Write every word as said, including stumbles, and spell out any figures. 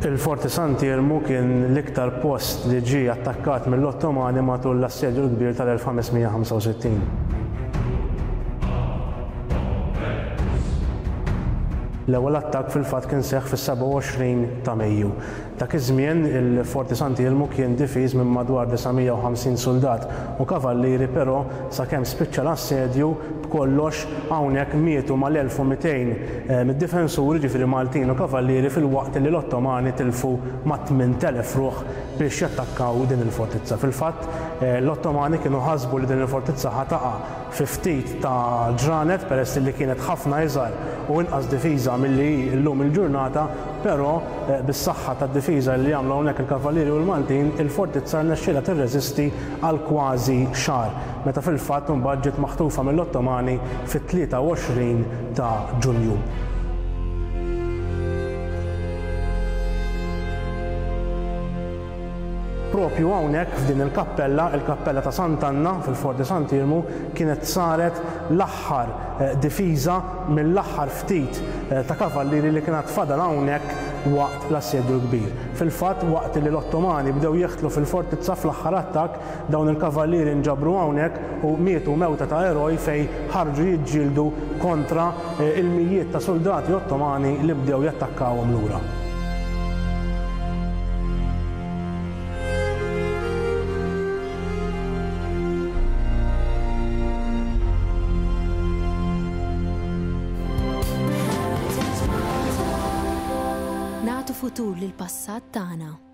Il-Forti Sant'Iermu kien l-iktar post li ġie attakkat mill-Ottomani matul l-Assedju l-Kbir tal-elf ħames mija ħamsa u sittin. L-ewwel attakk fil-fatt kien seħħ fis-sebgħa u għoxrin ta' Mejju. Dak iż-żmien il-Forti Sant'Iermu kien difiż minn madwar disa' mija u ħamsin soldat u kavallieri, però sakemm spiċċa l-assedju b'kollox hawnhekk mietu mal-elf u mitejn, eh, mid-difensuri, ġifieri Maltin u kavallieri, fil-waqt li l-Ottomani tilfu ma' tmint elef ruħ biex jattakkaw din il-fortizza. Fil-fatt, eh, l-Ottomani kienu ħasbu li din il-fortizza ħataqa fi ftit ta' ġranet peress li kienet ħafna iżgħar u inqas difiża milli hi llum il-ġurnata, però, eh, bis-saħħa tad-difiża li għamlu hawnhekk il-Kavallieri u l-Maltin, il-fortizza rnexxielha tirreżisti għal kważi xahar, meta fil-fatt imbagħad ġiet maħtufa mill-Ottomani fit-tlieta u għoxrin ta' Ġunju. Propju hawnhekk f'din il-kappella, il-kappella ta' Sant'Anna fil-Forti Sant'Iermu, kienet saret l-aħħar, eh, difiża mill-aħħar ftit, eh, ta' kavallieri li kienet fadal hawnhekk waqt l-assedju l-kbir. Fil-fatt, waqt li l-Ottomani bdew jeħtlu fil-fortizza fl-aħħar attakk, dawn il-kavallieri nġabru hawnhekk u mietu mewta ta' eroj fej ħarġu jiġġieldu kontra, eh, il-mijiet ta' soldati Ottomani li bdew jattakkawhom lura. Nagħtu futur lil passat tagħna.